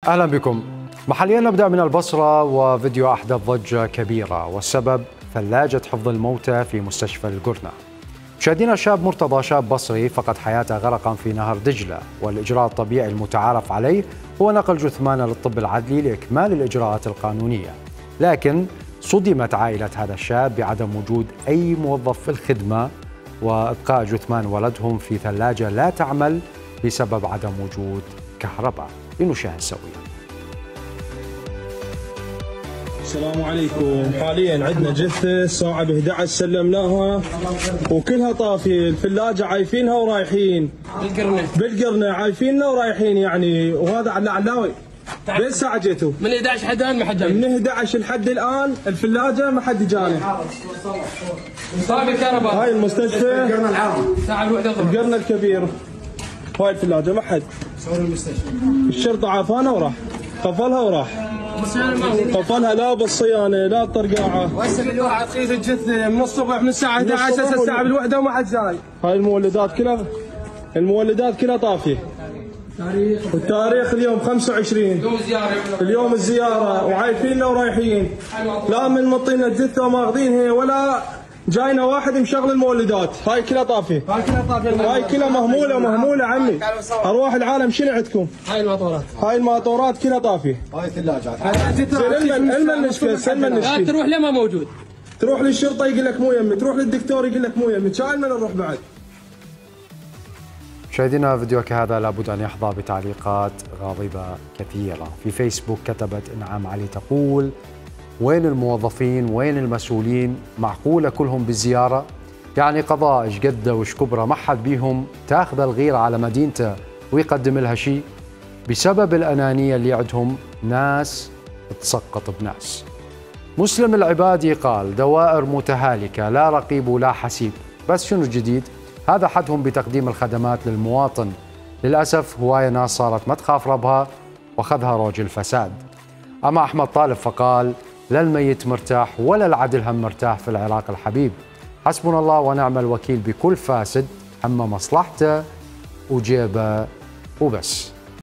أهلا بكم. محليا نبدأ من البصرة، وفيديو أحدث ضجة كبيرة، والسبب ثلاجة حفظ الموتى في مستشفى القرنة. مشاهدينا، شاب مرتضى شاب بصري فقد حياته غرقا في نهر دجلة، والإجراء الطبيعي المتعارف عليه هو نقل جثمانه للطب العدلي لإكمال الإجراءات القانونية، لكن صدمت عائلة هذا الشاب بعدم وجود أي موظف في الخدمة وإبقاء جثمان ولدهم في ثلاجة لا تعمل بسبب عدم وجود كهرباء. لنشاهد سويا. السلام عليكم. حاليا عندنا جثة الساعة ب 11 سلمناها وكلها طافية، الثلاجة عايفينها ورايحين بالقرنة عايفيننا ورايحين يعني. وهذا علاوي بين الساعة جيتوا من 11 حد الآن ما حد جاي، من 11 لحد الآن الثلاجة ما حد جاني. طابق الكهرباء هاي المستشفى الساعة الوحدة القرن الكبير، هاي الثلاجة ما حد. الشرطة عافانا وراح قفلها وراح قفلها، لا بالصيانة لا الطرقاعة. وهسه بالواحد قيد الجثة من الصبح من الساعة 11 الساعة بالوحدة وما حد جاي. هاي المولدات كلها طافية. والتاريخ اليوم 25 اليوم الزيارة وعايفيننا ورايحين، لا من مطينا الجثة وماخذينها ولا جاينا واحد مشغل المولدات. هاي كلها طافية، هاي كلها مهمولة عمي. أرواح العالم شنو عندكم؟ هاي الماطورات كلها طافية. هاي الثلاجات لا تروح لما موجود، تروح للشرطة يقول لك مو يمي، تروح للدكتور يقول لك مو يمي، كان من نروح بعد. مشاهدينا، فيديو كهذا لابد أن يحظى بتعليقات غاضبة كثيرة. في فيسبوك كتبت إنعام علي تقول: وين الموظفين؟ وين المسؤولين؟ معقولة كلهم بالزيارة؟ يعني قضاء إيش قده وإيش كبره ما حد بيهم تاخذ الغيرة على مدينته ويقدم لها شيء؟ بسبب الأنانية اللي عندهم ناس تسقط بناس. مسلم العبادي قال: دوائر متهالكة، لا رقيب ولا حسيب. بس شنو الجديد؟ هذا حدهم بتقديم الخدمات للمواطن. للأسف هواية ناس صارت ما تخاف ربها واخذها روج الفساد. أما أحمد طالب فقال: لا الميت مرتاح ولا العدل هم مرتاح في العراق الحبيب. حسبنا الله ونعم الوكيل بكل فاسد هم مصلحته وجيبه وبس.